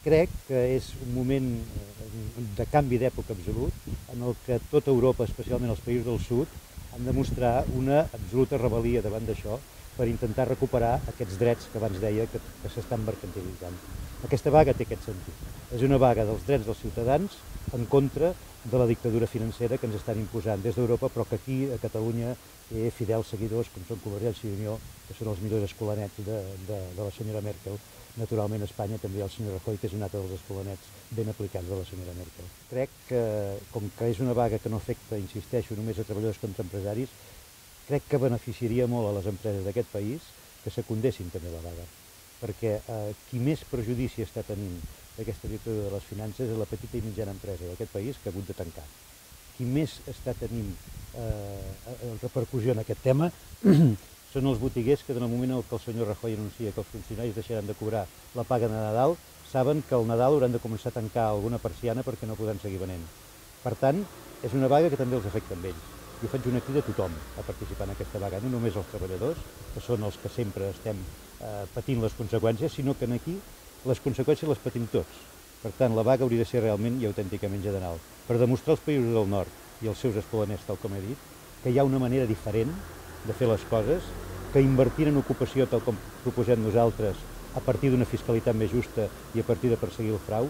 Crec que és un moment de canvi d'època absolut en el que tota Europa, especialment els països del sud, han de mostrar una absoluta rebel·lia davant d'això per intentar recuperar aquests drets que abans deia que s'estan mercantilitzant. Aquesta vaga té aquest sentit. És una vaga dels drets dels ciutadans en contra de la dictadura financera que ens estan imposant des d'Europa, però que aquí, a Catalunya, té fidels seguidors, com són Convergència i Unió, que són els millors escolanets de la senyora Merkel. Naturalment, a Espanya també hi ha el senyor Rajoy, que és un altre dels escolanets ben aplicats de la senyora Merkel. Crec que, com que és una vaga que no afecta, insisteixo, només a treballadors contra empresaris, crec que beneficiaria molt a les empreses d'aquest país que secundessin també la vaga, perquè qui més perjudici està tenint d'aquesta dictadura de les finances és la petita i mitjana empresa d'aquest país que ha hagut de tancar. Qui més està tenint repercussió en aquest tema són els botiguers que en el moment en què el senyor Rajoy anuncia que els funcionaris deixaran de cobrar la paga de Nadal, saben que al Nadal hauran de començar a tancar alguna persiana perquè no podran seguir venent. Per tant, és una vaga que també els afecta a ells. Jo faig una crida a tothom a participar en aquesta vaga, no només els treballadors, que són els que sempre estem patint les conseqüències, sinó que aquí les conseqüències les patim tots. Per tant, la vaga hauria de ser realment i autènticament general, per demostrar als països del nord i als seus escolaners, tal com he dit, que hi ha una manera diferent de fer les coses, que invertint en ocupació, tal com proposem nosaltres, a partir d'una fiscalitat més justa i a partir de perseguir el frau,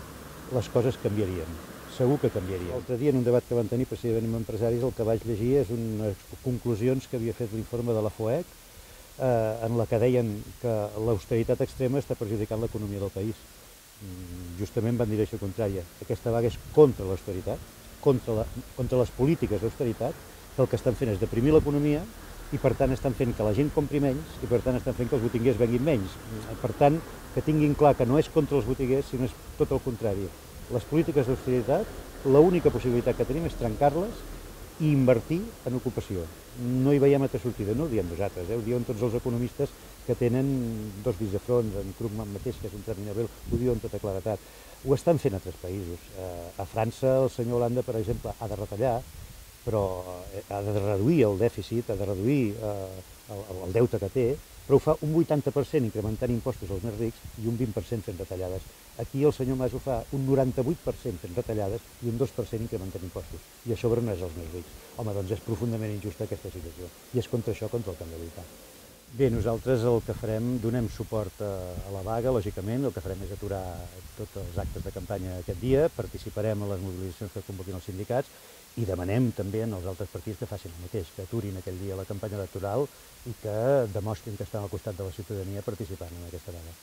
les coses canviarien. Segur que canviarien. L'altre dia, en un debat que vam tenir precisament amb empresaris, el que vaig llegir és unes conclusions que havia fet l'informe de la FOEC, en la que deien que l'austeritat extrema està perjudicant l'economia del país. Justament van dir això contrària. Aquesta vaga és contra l'austeritat, contra les polítiques d'austeritat, que el que estan fent és deprimir l'economia i per tant estan fent que la gent compri menys i per tant estan fent que els botiguers venguin menys. Per tant, que tinguin clar que no és contra els botiguers, sinó és tot el contrari. Les polítiques d'austeritat, l'única possibilitat que tenim és trencar-les i invertir en ocupació. No hi veiem altra sortida, no ho diem nosaltres, ho diuen tots els economistes que tenen dos dits de front, en Krugman mateix, que és un premi Nobel, ho diuen tota claretat. Ho estan fent altres països. A França el senyor Hollande, per exemple, ha de retallar, però ha de reduir el dèficit, ha de reduir el deute que té, però ho fa un 80% incrementant impostos als més rics i un 20% fent retallades. Aquí el senyor Mas ho fa un 98% fent retallades i un 2% incrementant impostos. I això no és els més rics. Home, doncs és profundament injusta aquesta situació. I és contra això contra el que hem de lluitar. Bé, nosaltres el que farem, donem suport a la vaga, lògicament, el que farem és aturar tots els actes de campanya aquest dia, participarem a les mobilitzacions que convoquin els sindicats i demanem també als altres partits que facin el mateix, que aturin aquell dia la campanya electoral i que demostrin que estan al costat de la ciutadania participant en aquesta vaga.